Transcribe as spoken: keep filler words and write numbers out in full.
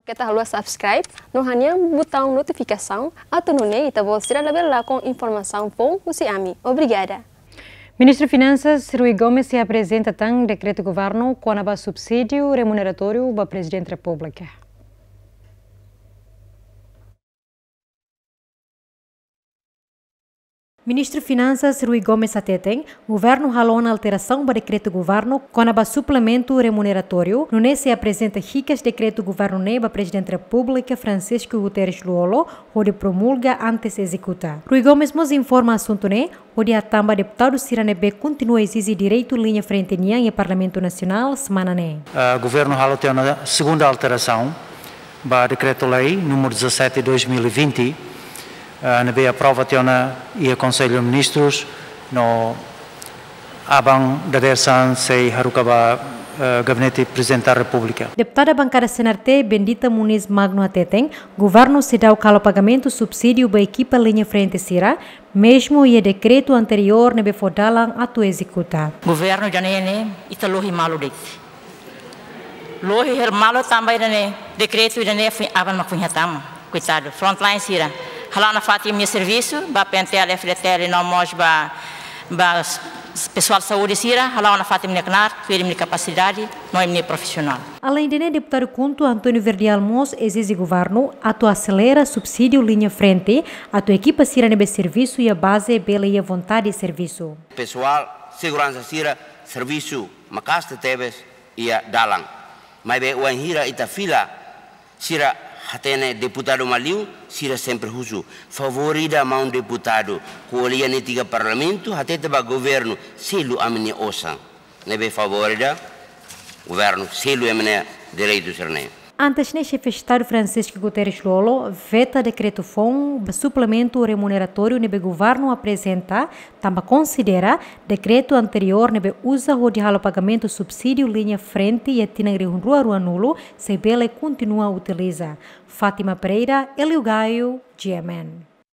Keta haluha subscribe no hanehan butaun notifikasaun atu nune'e ita-boot sira labele lakon informasaun foun husi ami. Obrigada. Ministru Finansas Rui Gomes sei aprezenta tan dekretu governu kona-ba subsídiu remuneratóriu ba Prezidente Repúblika. Ministru Finansas Rui Gomes hateten, governu halo ona alterasaun ba dekretu governu kona-ba suplementu remuneratóriu, nune'e sei aprezenta hikas dekretu governu ne'e ba Prezidente Repúblika Francisco Guterres Lú-Olo, hodi promulga antes ezekuta. Rui Gomes mós informa asuntu ne'e, hodi hatán ba deputadu sira ne'ebé kontinua ezije direitu liña frente nian iha Parlamentu Nasionál semana ne'e. Ah, governu halo tiha ona segunda alterasaun ba dekretu-lei númeru dezassete dois mil e vinte, ah, ne'ebé aprova tiha ona iha Konsellu Ministrus no aban dadeer-saan sei haruka ba, ah, Gabinete Prezidente da Repúblika. Deputada bankada C N R T, Bendita Muniz Magno hateten, governu seidauk halo pagamentu subsídiu ba ekipa liña frente sira, mezmu iha dekretu anteriór ne'ebé fó dalan atu ezekuta. Governu ida-ne'e ne'e, ita lohi malu de'it. Lohi hela malu tanba ida-ne'e, dekretu ida-ne'e foin aban mak foin hatama. Koitadu, frontline sira. Hala'o nafatin imi-nia servisu, ba P N T L, F D T L, no mós ba, ba s-, s-, pesoál saúde sira, hala'o nafatin imi-nia knaar, tuir imi-nia kapasidade, no imi-nia profisionál. Aleinde ne'e, deputadu KHUNTO António Verdial mós ezije governu atu aselera subsídiu liña frente, atu ekipa sira ne'ebé servisu iha baze bele iha vontade servisu. Pesoál seguransa sira servisu maka'as tebes iha dalan. Maibé wainhira ita fila, sira hatene deputadu mak liu, sira sempre husu. Favór ida maun deputadu, ko'alia netik iha Parlamentu, hatete ba governu, selu ami-nia osan. Ne'ebé favór ida, governu selu ema nia direitu sira-ne'e. Antes ne'e, Xefe Estadu Francisco Guterres Lú-Olo veta dekretu foun ba suplementu remuneratóriu ne'ebé governu aprezenta, tanba konsidera dekretu anteriór ne'ebé uza hodi halo pagamentu subsídiu liña frente iha tinan rihun rua ruanulu sei bele kontinua utiliza. Fátima Pereira, Hélio Gaio, G M N.